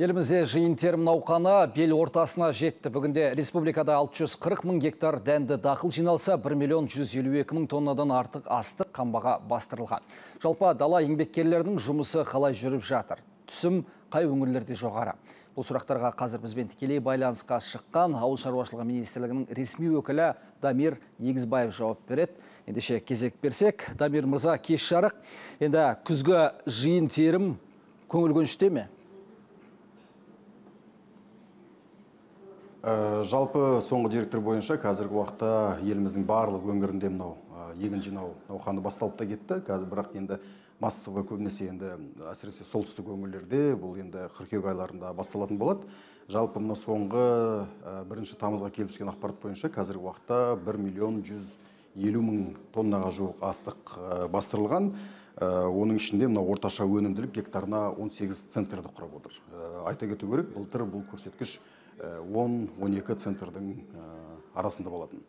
Елімізде жиын терім науқаны бел ортасына жетті. Бүгінде республикада 640 мың гектар дәнді дақыл жиналса, 1 миллион 152 мың тоннадан артық астық қамбаға бастырылған. Жалпы дала еңбеккерлерінің жұмысы қалай жүріп жатыр? Түсім қай өңірлерде жоғары? Бұл сұрақтарға қазір бізбен тікелей байланысқа шыққан Ауыл шаруашылығы министрлігінің ресми өкілі Дамир Егізбаев жауап береді. Ендеше кезек берсек, Дамир мырза, кеш жарық. Енді күзгі жиын терім көңіл көншіте ме? Жалпы соңғы деректер бойынша қазіргі уақытта еліміздің барлық өңірінде мынау егін жинау науқаны басталып та кетті. Қазір бірақ енді массовый көбінесе енді әсіресе солтүстік өңірлерде бұл енді қыркүйек айларында басталатын болады. Жалпы мына соңғы 1 тамызға келіп түскен ақпарат бойынша қазіргі уақытта 1 миллион 150 мың тоннаға жуық астық бастырылған. Оның ішінде мына орташа өнімділік гектарына 18 центрді құрап отыр. Айта кету керек, былтыр бұл көрсеткіш 10-12 центрдің арасында болатын.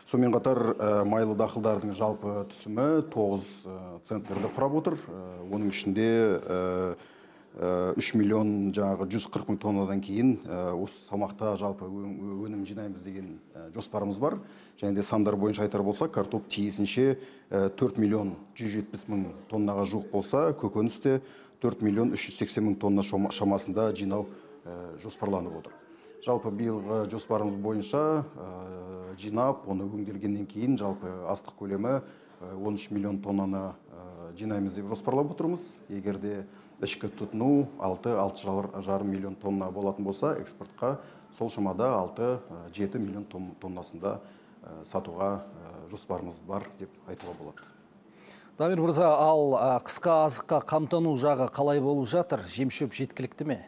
Сонымен қатар майлы дақылдардың жалпы түсімі 9 центрді құрап отыр. Оның ішінде 3 миллион 140 мың тоннадан кейін осы салмақта жалпы өнім жинаймыз деген жоспарымыз бар. Және де сандар бойынша айтар болса, картоп тиісінше 4 миллион 170 мың тоннаға жуық болса, көкөніс те 4 миллион 380 мың тонна шамасында жинау жоспарланып отыр. Жалпы биылғы жоспарымыз бойынша жинап, оны өңделгеннен кейін жалпы астық көлемі 13 миллион тоннаны жинаймыз деп жоспарлап отырмыз. Егерде ішкі тұтыну 6-6,5 миллион тонна болатын болса, экспортқа сол шамада 6-7 миллион тоннасында сатуға жоспарымыз бар деп айтуға болады. Дамир мырза, ал қысқа азыққа қамтану жағы қалай болып жатыр? Жем-шөп жеткілікті ме?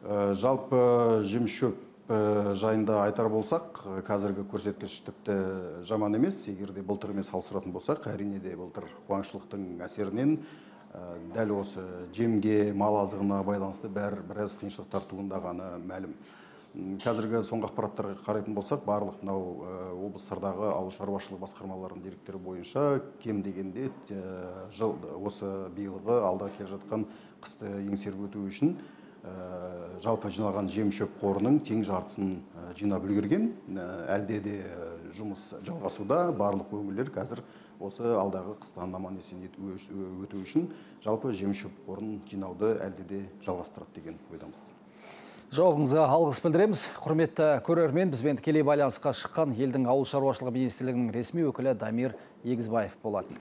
Жалпы жем-шөп жайында айтар болсақ, қазіргі көрсеткіш тіпті жаман емес. Егерде былтырмен салыстыратын болсақ, әрине де былтыр қуаңшылықтың әсерінен дәл осы жемге, мал азығына байланысты біраз қиыншылықтар туындағаны мәлім. Қазіргі соңғы ақпараттарға қарайтын болсақ, барлық мынау облыстардағы ауыл шаруашылығы басқармаларының деректері бойынша кем дегенде осы биылғы алда келе жатқан қысты еңсеріп өту үшін жалпы жиналған жем-шөп қорының тең жартысын жинап үлгерген. Әлде де жұмыс жалғасуда. Барлық өңірлер қазір осы алдағы қыстан аман-есен өту үшін жалпы жем-шөп қорын жинауды әлде де жалғастырады деген ойдамыз. Жауабыңызға алғыс білдіреміз. Құрметті көрермен, бізбен тікелей байланысқа шыққан елдің ауыл шаруашылығы министрлігінің ресми өкілі Дамир Егізбаев болатын.